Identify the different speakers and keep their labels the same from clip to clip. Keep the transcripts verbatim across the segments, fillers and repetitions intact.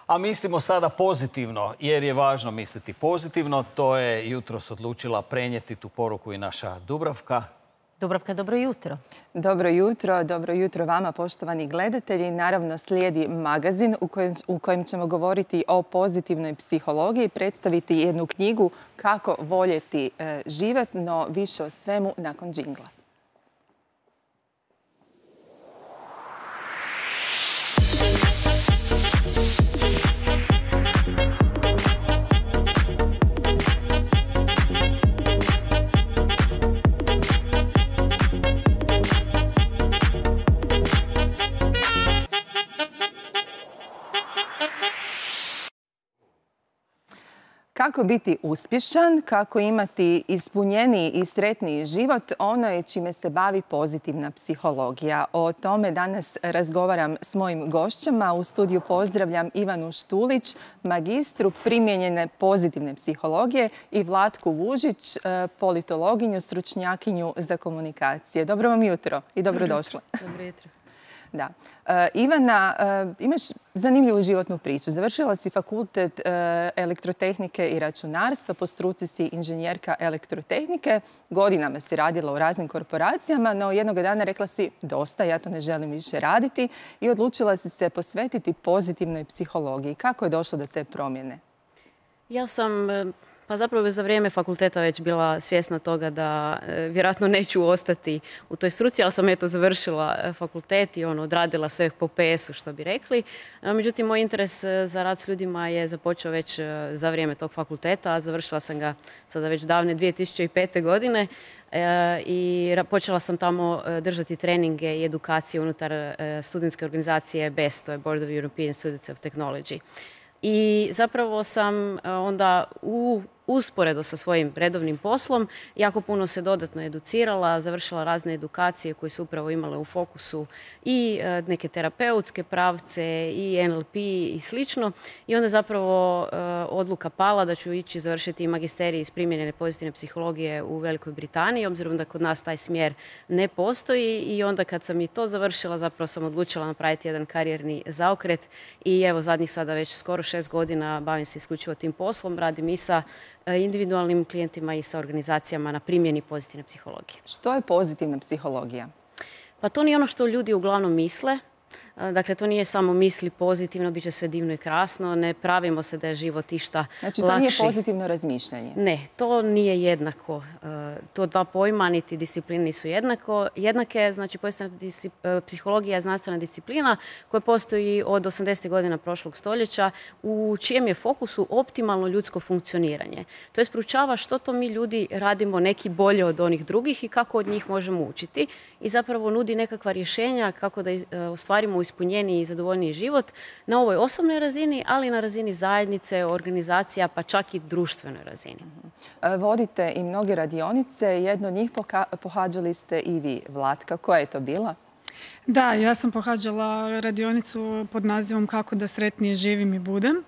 Speaker 1: A mislimo sada pozitivno, jer je važno misliti pozitivno. To je jutros odlučila prenijeti tu poruku i naša Dubravka.
Speaker 2: Dubravka, dobro jutro.
Speaker 3: Dobro jutro, dobro jutro vama, poštovani gledatelji. Naravno, slijedi magazin u kojem, u kojem ćemo govoriti o pozitivnoj psihologiji, predstaviti jednu knjigu Kako voljeti e, život, no više o svemu nakon džingla. Kako biti uspješan, kako imati ispunjeniji i sretniji život, ono je čime se bavi pozitivna psihologija. O tome danas razgovaram s mojim gošćama. U studiju pozdravljam Ivanu Štulić, magistru primijenjene pozitivne psihologije, i Vlatku Vužić, politologinju, stručnjakinju za komunikacije. Dobro vam jutro i dobrodošle.
Speaker 2: Dobro jutro.
Speaker 3: Da. E, Ivana, e, imaš zanimljivu životnu priču. Završila si fakultet e, elektrotehnike i računarstva, po struci si inženjerka elektrotehnike. Godinama si radila u raznim korporacijama, no jednog dana rekla si dosta, ja to ne želim više raditi, i odlučila si se posvetiti pozitivnoj psihologiji. Kako je došlo do te promjene?
Speaker 2: Ja sam... Pa zapravo za vrijeme fakulteta već bila svjesna toga da e, vjerojatno neću ostati u toj struci, ali sam eto završila fakultet i ono, odradila sve po pe esu, što bi rekli. E, međutim, moj interes za rad s ljudima je započeo već za vrijeme tog fakulteta, a završila sam ga sada već davne dvije tisuće pete. godine e, i počela sam tamo držati treninge i edukacije unutar e, studentske organizacije B E S, to je Board of European Students of Technology. I zapravo sam onda u usporedo sa svojim redovnim poslom jako puno se dodatno educirala, završila razne edukacije koje su upravo imale u fokusu i neke terapeutske pravce i en el pe i slično. I onda zapravo odluka pala da ću ići završiti magisterij iz primijenjene pozitivne psihologije u Velikoj Britaniji, obzirom da kod nas taj smjer ne postoji. I onda kad sam i to završila, zapravo sam odlučila napraviti jedan karijerni zaokret i evo zadnjih sada već skoro šest godina bavim se isključivo tim poslom, radim i sa individualnim klijentima i sa organizacijama na primjeni pozitivne psihologije.
Speaker 3: Što je pozitivna psihologija?
Speaker 2: Pa to nije ono što ljudi uglavnom misle. Dakle, to nije samo misli pozitivno, bit će sve divno i krasno, ne pravimo se da je život išta lakši.
Speaker 3: Znači, to nije pozitivno razmišljanje?
Speaker 2: Ne, to nije jednako. To dva pojma, niti discipline nisu jednako. Jednake, znači, pozitivna psihologija je znanstvena disciplina koja postoji od osamdesetih godina prošlog stoljeća, u čijem je fokusu optimalno ljudsko funkcioniranje. To je proučava što to mi ljudi radimo neki bolje od onih drugih i kako od njih možemo učiti, i zapravo nudi nekakva rješenja kako da ostvarimo ispunjeniji i zadovoljniji život na ovoj osobnoj razini, ali i na razini zajednice, organizacija, pa čak i društvenoj razini.
Speaker 3: Vodite i mnoge radionice, jedno od njih pohađali ste i vi, Vlatka. Koja je to bila?
Speaker 4: Da, ja sam pohađala radionicu pod nazivom Kako da sretnije živim i budem.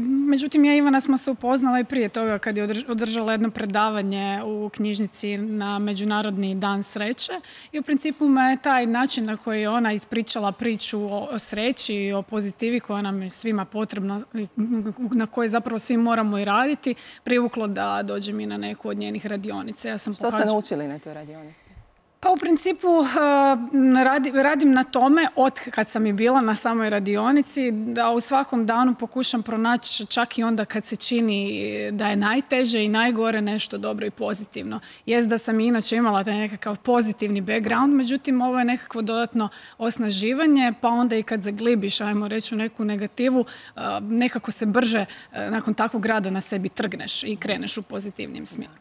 Speaker 4: Međutim, ja i Ivana smo se upoznala i prije toga kad je održala jedno predavanje u knjižnici na Međunarodni dan sreće, i u principu me je taj način na koji je ona ispričala priču o sreći i o pozitivi koja nam je svima potrebna, na kojoj zapravo svi moramo i raditi, privuklo da dođem i na neku od njenih radionica. Ja sam
Speaker 3: Što ste naučili na toj radionici?
Speaker 4: Pa u principu radim na tome od kad sam i bila na samoj radionici, da u svakom danu pokušam pronaći, čak i onda kad se čini da je najteže i najgore, nešto dobro i pozitivno. Jest da sam i inače imala taj nekakav pozitivni background, međutim ovo je nekakvo dodatno osnaživanje, pa onda i kad zaglibiš, ajmo reći, u neku negativu, nekako se brže nakon takvog rada na sebi trgneš i kreneš u pozitivnim smjeru.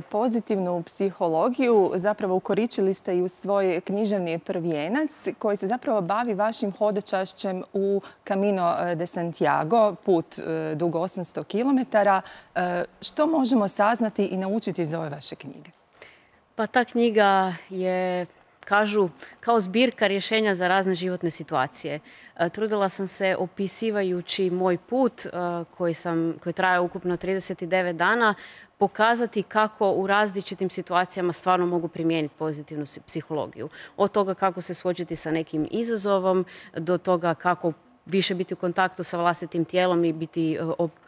Speaker 3: Pozitivnu psihologiju zapravo ukoričili ste i u svoj književni prvijenac koji se zapravo bavi vašim hodočašćem u Camino de Santiago, put dug osamsto kilometara. Što možemo saznati i naučiti iz ove vaše knjige?
Speaker 2: Pa ta knjiga je, kažu, kao zbirka rješenja za razne životne situacije. Trudila sam se, opisivajući moj put koji, sam, koji traje ukupno trideset devet dana, pokazati kako u različitim situacijama stvarno mogu primijeniti pozitivnu psihologiju. Od toga kako se suočiti sa nekim izazovom, do toga kako više biti u kontaktu sa vlastitim tijelom i biti,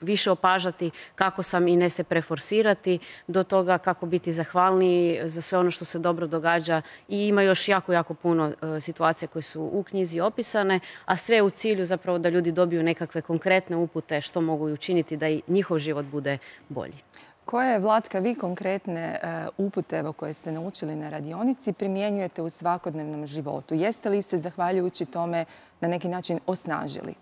Speaker 2: više opažati kako sam i ne se preforsirati, do toga kako biti zahvalniji za sve ono što se dobro događa. I ima još jako, jako puno situacija koje su u knjizi opisane, a sve u cilju zapravo da ljudi dobiju nekakve konkretne upute što mogu učiniti da i njihov život bude bolji.
Speaker 3: Koje, Vlatka, vi konkretne upute evo, koje ste naučili na radionici primjenjujete u svakodnevnom životu? Jeste li se, zahvaljujući tome, na neki način osnažili?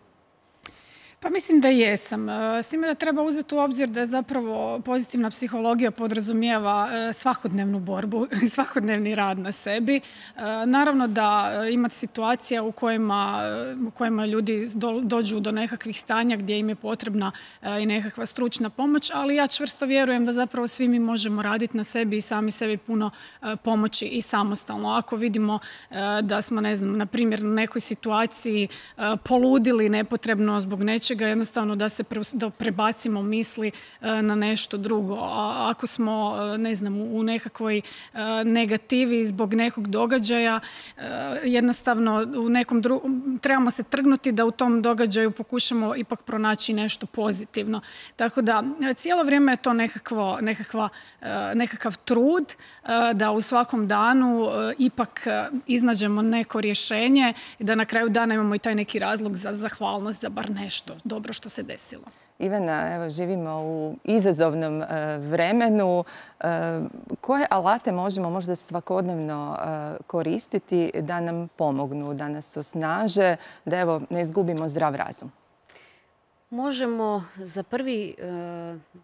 Speaker 4: Pa mislim da jesam. S time da treba uzeti u obzir da je zapravo pozitivna psihologija podrazumijeva svakodnevnu borbu i svakodnevni rad na sebi. Naravno da imate situacija u kojima, u kojima ljudi do, dođu do nekakvih stanja gdje im je potrebna i nekakva stručna pomoć, ali ja čvrsto vjerujem da zapravo svi mi možemo raditi na sebi i sami sebi puno pomoći i samostalno. Ako vidimo da smo, ne znam, na primjer, u nekoj situaciji poludili nepotrebno zbog nečega, jednostavno da se pre, da prebacimo misli na nešto drugo. A ako smo, ne znam, u nekakvoj negativi zbog nekog događaja, jednostavno u nekom drugom, trebamo se trgnuti da u tom događaju pokušamo ipak pronaći nešto pozitivno. Tako da cijelo vrijeme je to nekakvo, nekakva, nekakav trud da u svakom danu ipak iznađemo neko rješenje i da na kraju dana imamo i taj neki razlog za zahvalnost za bar nešto dobro što se desilo.
Speaker 3: Ivana, evo, živimo u izazovnom uh, vremenu. Uh, koje alate možemo možda svakodnevno uh, koristiti da nam pomognu, da nas osnaže, da evo, ne izgubimo zdrav razum?
Speaker 2: Možemo za prvi,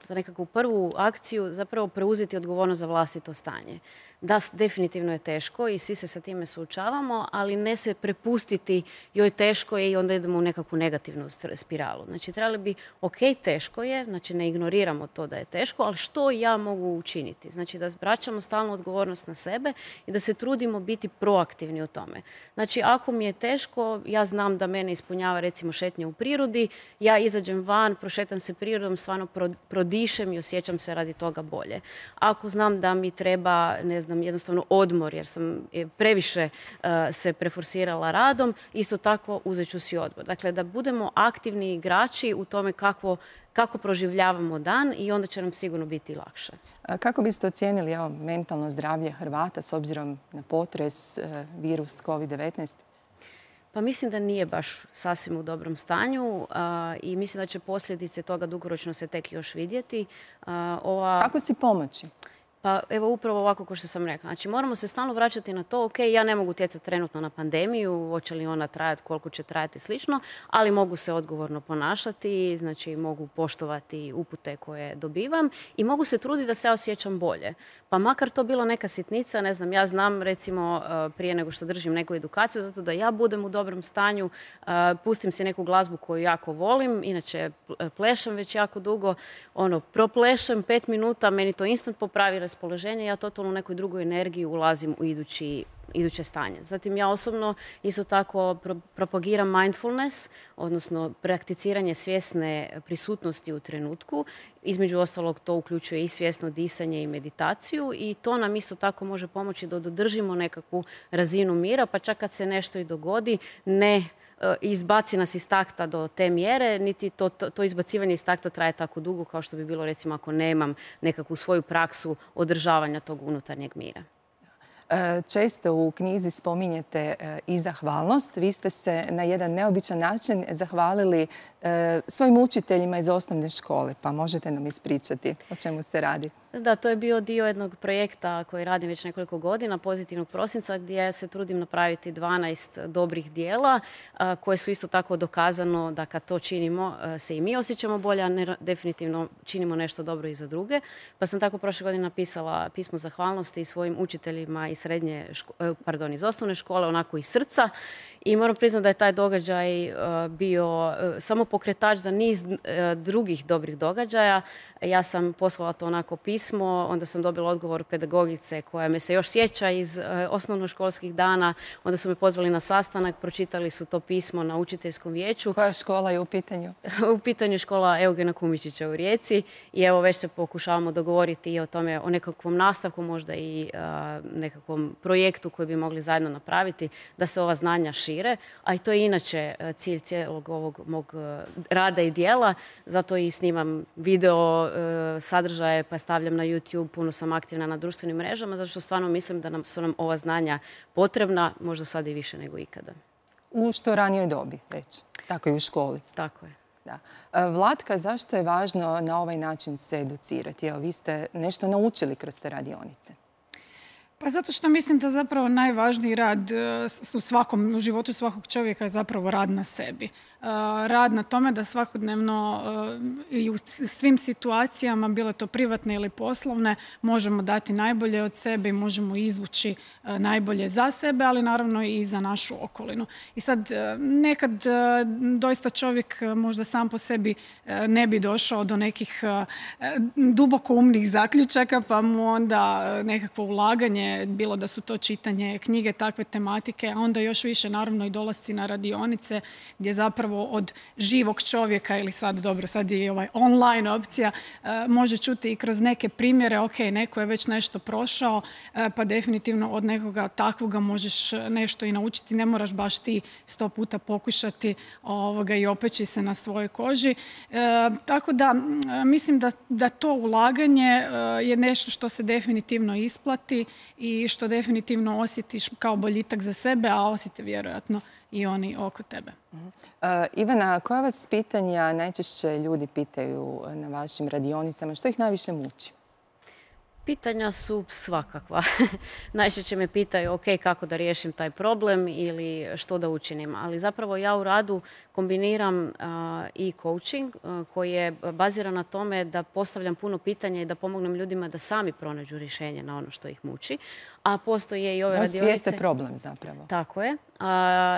Speaker 2: za nekakvu prvu akciju zapravo preuzeti odgovornost za vlastito stanje. Da, definitivno je teško i svi se sa time suočavamo, ali ne se prepustiti joj teško je i onda idemo u nekakvu negativnu spiralu. Znači, trebali bi, ok, teško je, znači ne ignoriramo to da je teško, ali što ja mogu učiniti? Znači, da vraćamo stalnu odgovornost na sebe i da se trudimo biti proaktivni u tome. Znači, ako mi je teško, ja znam da mene ispunjava recimo šetnje u prirodi, ja izađem van, prošetam se prirodom, stvarno prodišem i osjećam se radi toga bolje. Ako znam da mi treba, ne znam, jednostavno odmor jer sam previše uh, se preforsirala radom, isto tako uzet ću si odmor. Dakle, da budemo aktivni igrači u tome kako, kako proživljavamo dan i onda će nam sigurno biti lakše.
Speaker 3: A kako biste ocijenili evo, mentalno zdravlje Hrvata s obzirom na potres, uh, virus kovid devetnaest?
Speaker 2: Pa mislim da nije baš sasvim u dobrom stanju a, i mislim da će posljedice toga dugoročno se tek još vidjeti. A, ova...
Speaker 3: Kako si pomoći?
Speaker 2: Pa evo upravo ovako kao što sam rekla. Znači moramo se stalno vraćati na to, ok, ja ne mogu utjecati trenutno na pandemiju, hoće li ona trajati, koliko će trajati slično, ali mogu se odgovorno ponašati, znači mogu poštovati upute koje dobivam i mogu se truditi da se ja osjećam bolje. Pa makar to bilo neka sitnica, ne znam, ja znam recimo prije nego što držim neku edukaciju, zato da ja budem u dobrom stanju, pustim si neku glazbu koju jako volim, inače plešem već jako dugo, ono, proplešem pet minuta, meni to instant popravi raspoloženje, ja totalno u nekoj drugoj energiji ulazim u idući iduće stanje. Zatim ja osobno isto tako pro propagiram mindfulness, odnosno prakticiranje svjesne prisutnosti u trenutku. Između ostalog to uključuje i svjesno disanje i meditaciju i to nam isto tako može pomoći da dodržimo nekakvu razinu mira, pa čak kad se nešto i dogodi, ne izbaci nas iz takta do te mjere, niti to, to, to izbacivanje iz takta traje tako dugo kao što bi bilo recimo ako nemam nekakvu svoju praksu održavanja tog unutarnjeg mira.
Speaker 3: Često u knjizi spominjete i zahvalnost. Vi ste se na jedan neobičan način zahvalili svojim učiteljima iz osnovne škole, pa možete nam ispričati o čemu se radi?
Speaker 2: Da, to je bio dio jednog projekta koji radim već nekoliko godina, Pozitivnog prosinca, gdje se trudim napraviti dvanaest dobrih dijela koje su isto tako dokazano da kad to činimo se i mi osjećamo bolje, a ne, definitivno činimo nešto dobro i za druge. Pa sam tako prošle godine napisala pismo zahvalnosti svojim učiteljima iz srednje, pardon, iz osnovne škole, onako iz srca. I moram priznati da je taj događaj bio samo pokretač za niz drugih dobrih događaja. Ja sam poslala to onako pismo pismo, onda sam dobila odgovor pedagogice koja me se još sjeća iz uh, osnovnoškolskih dana, onda su me pozvali na sastanak, pročitali su to pismo na učiteljskom vijeću.
Speaker 3: Koja škola je u pitanju?
Speaker 2: U pitanju je škola Eugena Kumičića u Rijeci i evo već se pokušavamo dogovoriti i o tome, o nekakvom nastavku, možda i uh, nekakvom projektu koji bi mogli zajedno napraviti, da se ova znanja šire, a i to je inače uh, cilj cijelog ovog mog uh, rada i dijela, zato i snimam video uh, sadržaje pa stavljam na YouTube, puno sam aktivna na društvenim mrežama, zato što stvarno mislim da nam su nam ova znanja potrebna, možda sad i više nego ikada.
Speaker 3: U što ranijoj dobi već, tako i u školi.
Speaker 2: Tako je.
Speaker 3: Da. Vlatka, zašto je važno na ovaj način se educirati? Evo, vi ste nešto naučili kroz te radionice.
Speaker 4: Pa zato što mislim da zapravo najvažniji rad u svakom, u životu svakog čovjeka je zapravo rad na sebi. Rad na tome da svakodnevno i u svim situacijama, bilo to privatne ili poslovne, možemo dati najbolje od sebe i možemo izvući najbolje za sebe, ali naravno i za našu okolinu. I sad nekad doista čovjek možda sam po sebi ne bi došao do nekih duboko umnih zaključaka, pa mu onda nekakvo ulaganje, bilo da su to čitanje knjige takve tematike, a onda još više naravno i dolasci na radionice gdje zapravo od živog čovjeka ili sad, dobro, sad je i ovaj online opcija, može čuti i kroz neke primjere, ok, neko je već nešto prošao, pa definitivno od nekoga takvoga možeš nešto i naučiti, ne moraš baš ti sto puta pokušati ovoga, i opeći se na svojoj koži. E, tako da mislim da, da to ulaganje je nešto što se definitivno isplati i što definitivno osjetiš kao boljitak za sebe, a osjete vjerojatno i oni oko tebe.
Speaker 3: Uh, Ivana, koja vas pitanja najčešće ljudi pitaju na vašim radionicama? Što ih najviše muči?
Speaker 2: Pitanja su svakakva. Najčešće me pitaju, ok, kako da riješim taj problem ili što da učinim. Ali zapravo ja u radu kombiniram uh, i coaching uh, koji je baziran na tome da postavljam puno pitanja i da pomognem ljudima da sami pronađu rješenje na ono što ih muči. A postoje i ove
Speaker 3: da
Speaker 2: radionice...
Speaker 3: svijeste problem zapravo.
Speaker 2: Tako je, a,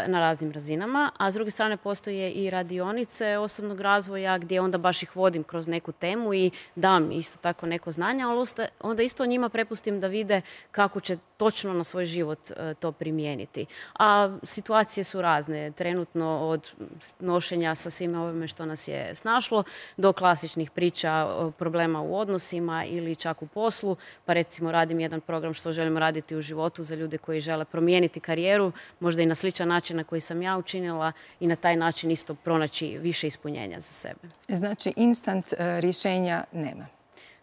Speaker 2: na raznim razinama. A s druge strane postoje i radionice osobnog razvoja gdje onda baš ih vodim kroz neku temu i dam isto tako neko znanje, ali onda isto njima prepustim da vide kako će točno na svoj život to primijeniti. A situacije su razne, trenutno od nošenja sa svime ovime što nas je snašlo do klasičnih priča problema u odnosima ili čak u poslu. Pa recimo radim jedan program što želimo raditi u životu za ljude koji žele promijeniti karijeru, možda i na sličan način na koji sam ja učinila i na taj način isto pronaći više ispunjenja za sebe.
Speaker 3: Znači, instant rješenja nema?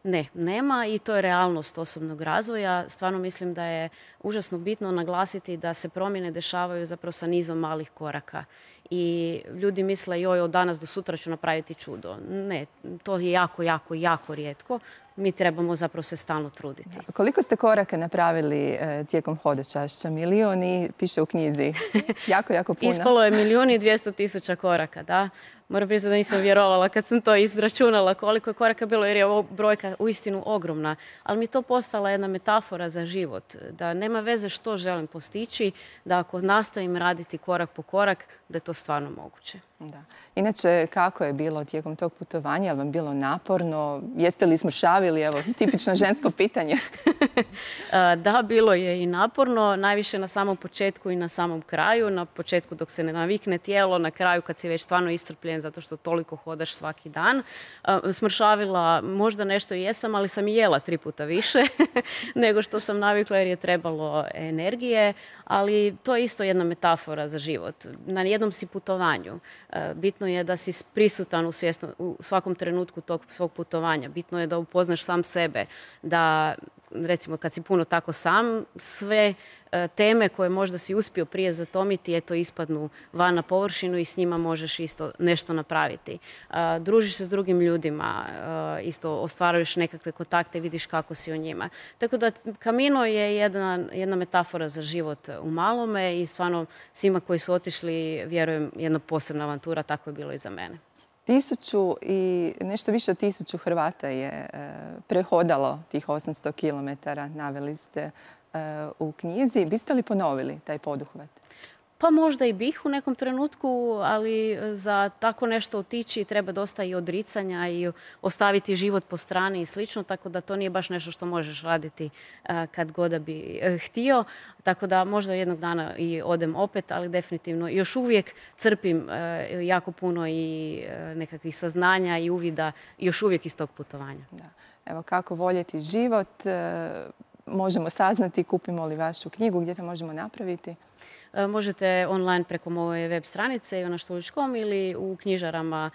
Speaker 2: Ne, nema i to je realnost osobnog razvoja. Stvarno mislim da je užasno bitno naglasiti da se promjene dešavaju zapravo sa nizom malih koraka. I ljudi misle, joj, od danas do sutra ću napraviti čudo. Ne, to je jako, jako, jako rijetko. Mi trebamo zapravo se stalno truditi.
Speaker 3: Da. Koliko ste koraka napravili e, tijekom hodočašća? Milion i piše u knjizi. Jako, jako puno.
Speaker 2: Ispalo je milijun i dvijesto tisuća koraka, da. Moram priznati da nisam vjerovala kad sam to izračunala koliko je koraka bilo, jer je ovo brojka uistinu ogromna. Ali mi je to postala jedna metafora za život. Da nema veze što želim postići, da ako nastavim raditi korak po korak, da je to stvarno moguće.
Speaker 3: Da. Inače, kako je bilo tijekom tog putovanja? Je li vam bilo naporno? Jeste li smršavili? Evo, tipično žensko pitanje.
Speaker 2: Da, bilo je i naporno. Najviše na samom početku i na samom kraju. Na početku dok se ne navikne tijelo, na kraju kad si već stvarno iscrpljen zato što toliko hodaš svaki dan. Smršavila možda nešto i jesam, ali sam i jela tri puta više nego što sam navikla jer je trebalo energije. Ali to je isto jedna metafora za život. Na jednom si putovanju. Bitno je da si prisutan u, svjesno, u svakom trenutku tog svog putovanja. Bitno je da upoznaš sam sebe, da recimo kad si puno tako sam, sve teme koje možda si uspio prije zatomiti, eto ispadnu van na površinu i s njima možeš isto nešto napraviti. Družiš se s drugim ljudima, isto ostvaruješ nekakve kontakte i vidiš kako si o njima. Tako da Camino je jedna, jedna metafora za život u malome i stvarno svima koji su otišli, vjerujem, jedna posebna avantura, tako je bilo i za mene.
Speaker 3: Tisuću i nešto više od tisuću Hrvata je prehodalo tih osamsto kilometara, naveli ste u knjizi. Biste li ponovili taj poduhvat?
Speaker 2: Pa možda i bih u nekom trenutku, ali za tako nešto otići treba dosta i odricanja i ostaviti život po strani i slično, tako da to nije baš nešto što možeš raditi kad god da bi htio. Tako da možda jednog dana i odem opet, ali definitivno još uvijek crpim jako puno i nekakvih saznanja i uvida još uvijek iz tog putovanja.
Speaker 3: Da. Evo, kako voljeti život, možemo saznati, kupimo li vašu knjigu, gdje to možemo napraviti?
Speaker 2: Možete online preko moje web stranice ivana štulić točka com ili u knjižarama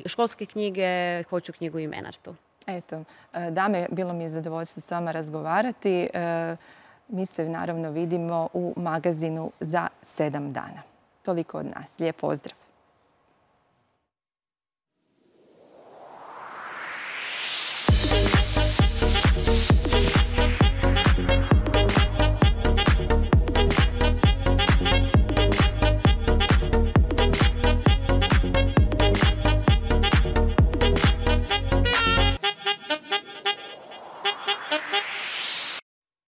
Speaker 2: školske knjige, Hoću knjigu i Menartu.
Speaker 3: Eto, dame, bilo mi je zadovoljstvo s vama razgovarati. Mi se naravno vidimo u magazinu za sedam dana. Toliko od nas. Lijep pozdrav.